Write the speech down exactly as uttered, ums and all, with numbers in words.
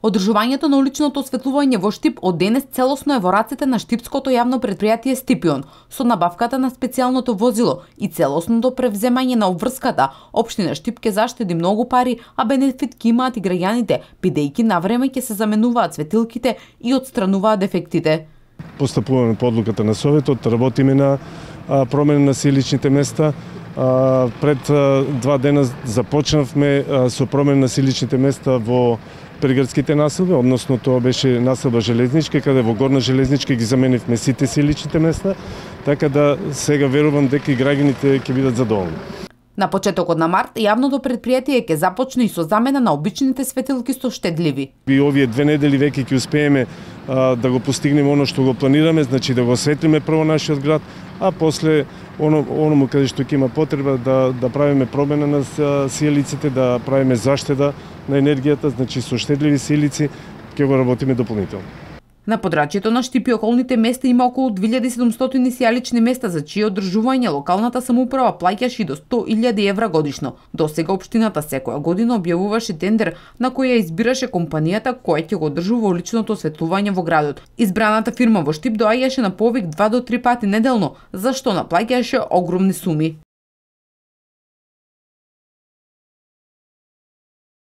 Одржувањето на уличното осветлување во Штип од денес целосно е во рацете на штипското јавно предпријатие Стипион, со набавката на специјалното возило и целосното превземање на обврската. Општина Штип ќе заштеди многу пари, а бенефит ќе имаат и граѓаните, бидејќи навреме ќе се заменуваат светилките и отстрануваат дефектите. Постапуваме по одлуката на Советот, работиме на а, промена на силичните места. А, пред а, два дена започнавме а, со промена на силичните места во приградските населби, односно тоа беше населба Железничка, каде во Горна Железничка ги заменивме сите силичните места, така да сега верувам дека и граѓаните ќе бидат задоволни. На почетокот на март, јавното предпријатие ќе започне и со замена на обичните светилки со штедливи. И овие две недели веќе ќе успееме а, да го постигнеме оно што го планираме, значи да го осветлиме прво нашиот град, а после оно оному каде што ќе има потреба да да правиме промена на сијалиците, да правиме заштеда на енергијата, значи со штедливи сијалици ќе го работиме дополнително. На подрачјето на Штип и околните места има околу две илјади и седумстотини сијалични места за чие одржување локалната самоуправа плаќаше и до сто илјади евра годишно. Досега општината секоја година објавуваше тендер на кој ја избираше компанијата која ќе го одржува уличното осветлување во градот. Избраната фирма во Штип доаѓаше на повик два до три пати неделно, за што наплаќаше огромни суми.